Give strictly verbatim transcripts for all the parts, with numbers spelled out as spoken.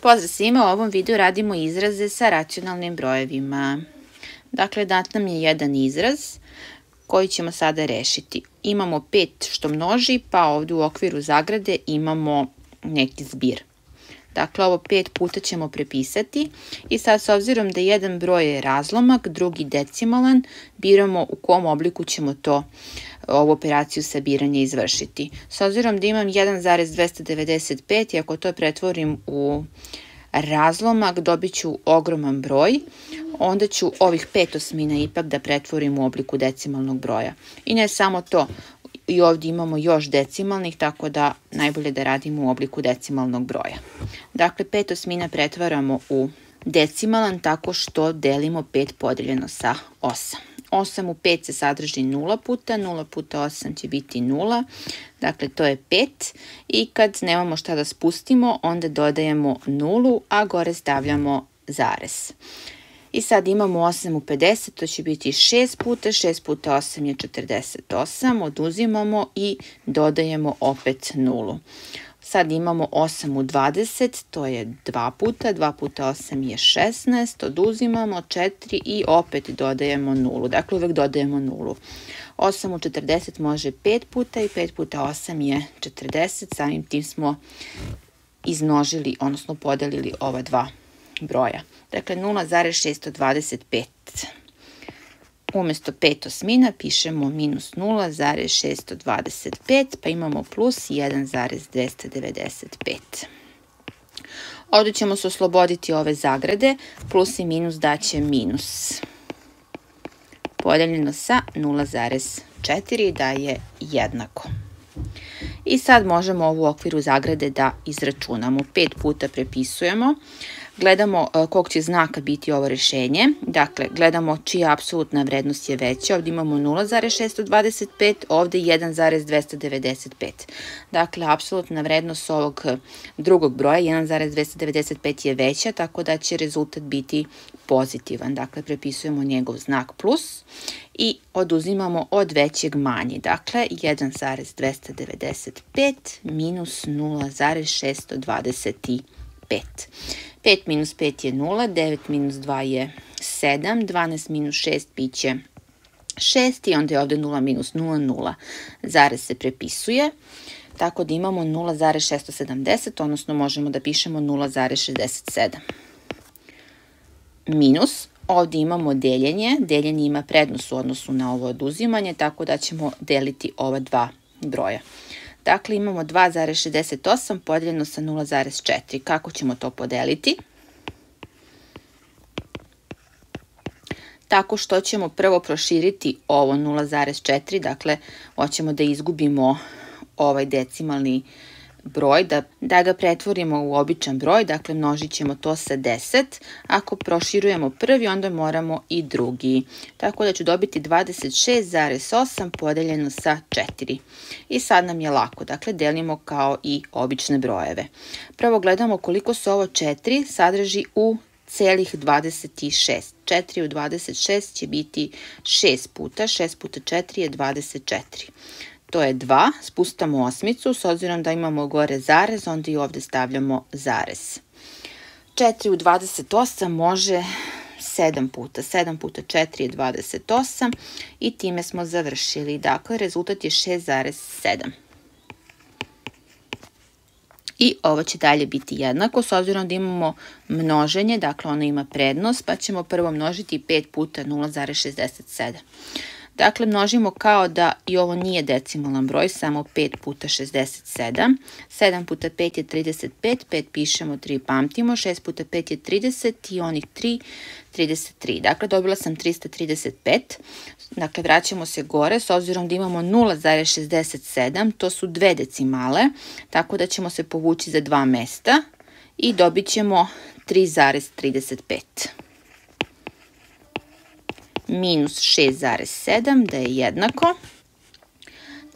Pozdrav svima, u ovom videu radimo izraze sa racionalnim brojevima. Dakle, dat nam je jedan izraz koji ćemo sada rešiti. Imamo pet što množi, pa ovdje u okviru zagrade imamo neki zbir. Dakle, ovo pet puta ćemo prepisati i sad s obzirom da jedan broj je razlomak, drugi decimalan, biramo u kom obliku ćemo to ovu operaciju sabiranja izvršiti. S obzirom da imam jedan zarez dvesta devedeset pet i ako to pretvorim u razlomak dobit ću ogroman broj, onda ću ovih pet osmina ipak da pretvorim u obliku decimalnog broja. I ne samo to, i ovdje imamo još decimalnih, tako da najbolje da radimo u obliku decimalnog broja. Dakle, pet osmina pretvaramo u decimalan tako što delimo pet podeljeno sa osam. osam u pet se sadrži nula puta, nula puta osam će biti nula, dakle to je pet i kad nemamo šta da spustimo, onda dodajemo nulu, a gore stavljamo zarez. I sad imamo osam u pedeset, to će biti šest puta, šest puta osam je četrdeset osam, oduzimamo i dodajemo opet nulu. Sad imamo osam u dvadeset, to je dva puta, dva puta osam je šesnaest, oduzimamo četiri i opet dodajemo nulu. Dakle, uvek dodajemo nulu. osam u četrdeset može pet puta i pet puta osam je četrdeset, samim tim smo izmnožili, odnosno podelili ova dva broja. Dakle, nula zarez šesto dvadeset pet. Umjesto pet osmina pišemo minus nula zarez šesto dvadeset pet, pa imamo plus jedan zarez dvesta devedeset pet. Ovdje ćemo se osloboditi ove zagrade, plus i minus daće minus. Podeljeno sa nula zarez četiri daje jednako. I sad možemo ovu okviru zagrade da izračunamo. pet puta prepisujemo. Gledamo kog će znaka biti ovo rešenje. Dakle, gledamo čija apsolutna vrednost je veća. Ovdje imamo nula zarez šesto dvadeset pet, ovdje jedan zarez dvesta devedeset pet. Dakle, apsolutna vrednost ovog drugog broja, jedan zarez dvesta devedeset pet je veća, tako da će rezultat biti pozitivan. Dakle, prepisujemo njegov znak plus i oduzimamo od većeg manje. Dakle, jedan zarez dvesta devedeset pet minus nula zarez šesto dvadeset pet. pet minus pet je nula, devet minus dva je sedam, dvanaest minus šest bit će šest i onda je ovdje nula minus nula, nula. Zarez se prepisuje, tako da imamo nula zarez šesto sedamdeset, odnosno možemo da pišemo nula zarez šezdeset sedam. Minus, ovdje imamo deljenje, deljenje ima prednost u odnosu na ovo oduzimanje, tako da ćemo deliti ova dva broja. Dakle, imamo dva zarez šezdeset osam podeljeno sa nula zarez četiri. Kako ćemo to podeliti? Tako što ćemo prvo proširiti ovo nula zarez četiri, dakle, hoćemo da izgubimo ovaj decimalni broj, da, da ga pretvorimo u običan broj, dakle množit ćemo to sa deset. Ako proširujemo prvi, onda moramo i drugi. Tako da ću dobiti dvadeset šest zarez osam podeljeno sa četiri. I sad nam je lako, dakle delimo kao i obične brojeve. Prvo gledamo koliko se ovo četiri sadrži u celih dvadeset šest. četiri u dvadeset šest će biti šest puta, šest puta četiri je dvadeset četiri. To je dva, spustamo osmicu, s obzirom da imamo gore zarez, onda i ovdje stavljamo zarez. četiri u dvadeset osam može sedam puta, sedam puta četiri je dvadeset osam i time smo završili. Dakle, rezultat je šest zarez sedam. I ovo će dalje biti jednako, s obzirom da imamo množenje, dakle ono ima prednost, pa ćemo prvo množiti pet puta nula zarez šezdeset sedam. Dakle, množimo kao da i ovo nije decimalan broj, samo pet puta šezdeset sedam. sedam puta pet je trideset pet, pet pišemo, tri pamtimo, šest puta pet je trideset i onih tri, trideset tri. Dakle, dobila sam trista trideset pet. Dakle, vraćamo se gore, s obzirom da imamo nula zarez šezdeset sedam, to su dve decimale, tako da ćemo se povući za dva mesta i dobit ćemo tri zarez trideset pet. Minus šest zarez sedam, da je jednako.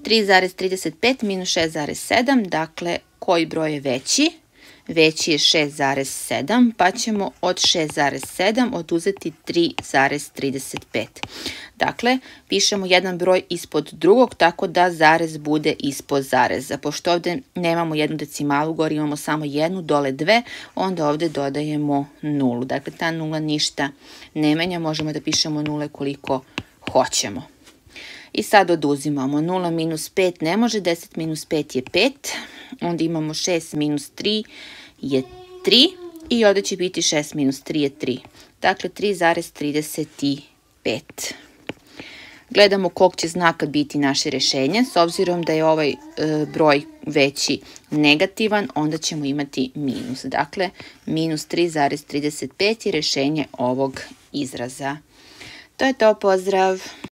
tri zarez trideset pet minus šest zarez sedam, dakle, koji broj je veći? veći je šest zarez sedam, pa ćemo od šest zarez sedam oduzeti tri zarez trideset pet. Dakle, pišemo jedan broj ispod drugog, tako da zarez bude ispod zareza. Pošto ovdje nemamo jednu decimalu, gore imamo samo jednu, dole dve, onda ovdje dodajemo nulu. Dakle, ta nula ništa ne menja, možemo da pišemo nule koliko hoćemo. I sad oduzimamo nula minus pet ne može, deset minus pet je pet, onda imamo šest minus tri je tri i ovdje će biti šest minus tri je tri. Dakle, tri zarez trideset pet. Gledamo kog će znaka biti naše rješenje. S obzirom da je ovaj e, broj veći negativan, onda ćemo imati minus. Dakle, minus tri zarez trideset pet je rješenje ovog izraza. To je to, pozdrav!